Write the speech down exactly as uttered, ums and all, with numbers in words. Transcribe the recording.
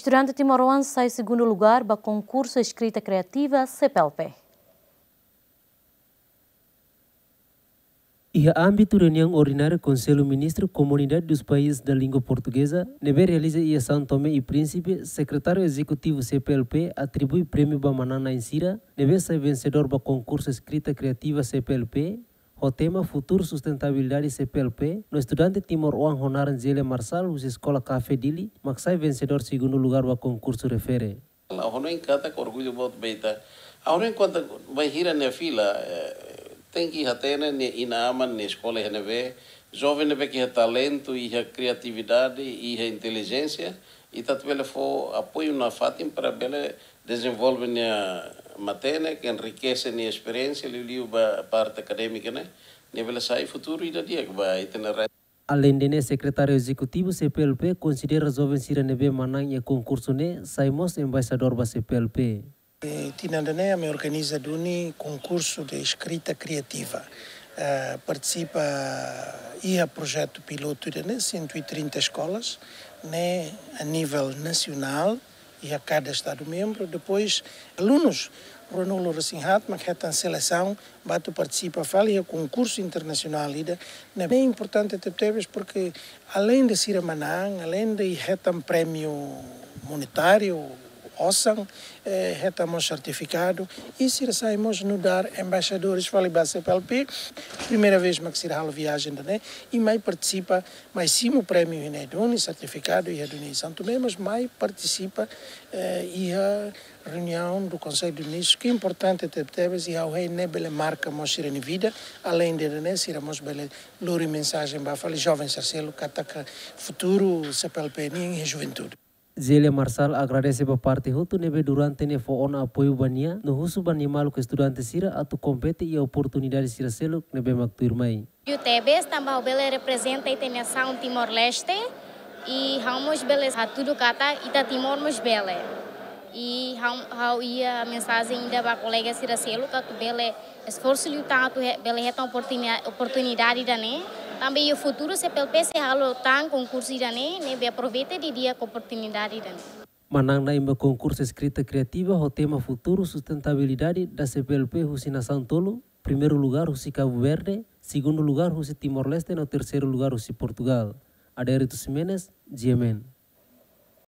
Estudante timoroan sai segundu lugar ba konkursu eskrita kriativa C P L P. Iha ámbitu reuniaun ordinária Konsellu Ministru Komunidade dos Países da Língua Portuguesa, ne'ebé realiza iha São Tomé e Príncipe, Sekretáriu Ezekutivu C P L P atribui prémiu ba manán-na'in sira ne'ebé sai vensedór ba konkursu eskrita kriativa C P L P, ho tema Futuru Sustentabilidade C P L P, no estudante timoroan ho naran Zélia Marçal husi Eskola Café Dili, mak sai vensedór segundu lugar ba konkursu refere. Ha'u hanoin katak orgullu boot ba ita. Ha'u hanoin katak bainhira nia fila, eh, tenke hatene nia inan-aman nia eskola iha ne'ebé, joven ne'ebé ke iha talentu, iha kriatividade, iha intelijénsia, ita atu bele fó apoiu nafatin para bele dezenvolve nia matenek, enrikese nia esperiénsia, liuliu ba parte akadémika ne'e, nia bele sai futuru ida di'ak ba ita-nia rain. Aleinde ne'e, Sekretáriu Ezekutivu C P L P konsidera joven sira ne'ebé manán iha konkursu ne'e sai mós embaixadór ba C P L P. Eh, tinan ida-ne'e ami organiza duni konkursu de eskrita kriativa. Eh, partisipa iha projetu pilotu ida-ne'e, cento e trinta escolas, ne'e a nível nacional, iha kada estadu membru. Depois, alunus ruanulu resin-haat mak hetan selesaun ba atu partisipa fali iha konkursu internasionál ida-ne'e. Ne'e importante tebetebes, porque aleinde sira manán, aleinde hetan prémiu monetáriu, osan, eh, hetan mós sertifikadu, i sira sai mós nu'udar embaixadores fali ba C P L P. Primeira vez mak sira halo viajen ida-ne'e, i mai partisipa, mai simu prémiu iha ne'e duni, sertifikadu iha duni São Tomé, mas mai partisipa, eh, iha reuniaun do Konsellu de Ministrus, ke importante tebetebes, i ha'u hanoin ne'e bele marka mós sira-nia vida, aleinde ida-ne'e sira mós bele lori mensajen ba fali joven sira seluk katak futuru C P L P nian iha juventude. Zélia Marçal agradese ba parte hotu ne'ebé durante ne'e fó ona apoiu ba nia, no husu ba nia maluk estudante sira atu kompete iha oportunidade sira seluk ne'ebé mak tuirmai. Liu tebes tanba ha'u bele reprezenta ita-nia nasaun Timor-Leste, i ha'u mós bele hatudu katak ita Timor mós bele. I ha'u, ha'u iha mensajen ida ba kolega sira seluk atu bele esforsu liután atu he-, bele hetan oportuni-, oportunidade ida-ne'e. Tanba iha futuru C P L P sei halo tan konkursu ida-ne'e, ne'ebé aproveita didi'ak oportunidade ida-ne'e. Manán-na'in ba konkursu eskrita kriativa ho tema Futuru Sustentabilidade da C P L P husi nasaun tolu, primeiru lugar husi Cabo Verde, segundu lugar husi Timor-Leste no terseiru lugar husi Portugal. Adérito Ximenes, G M N.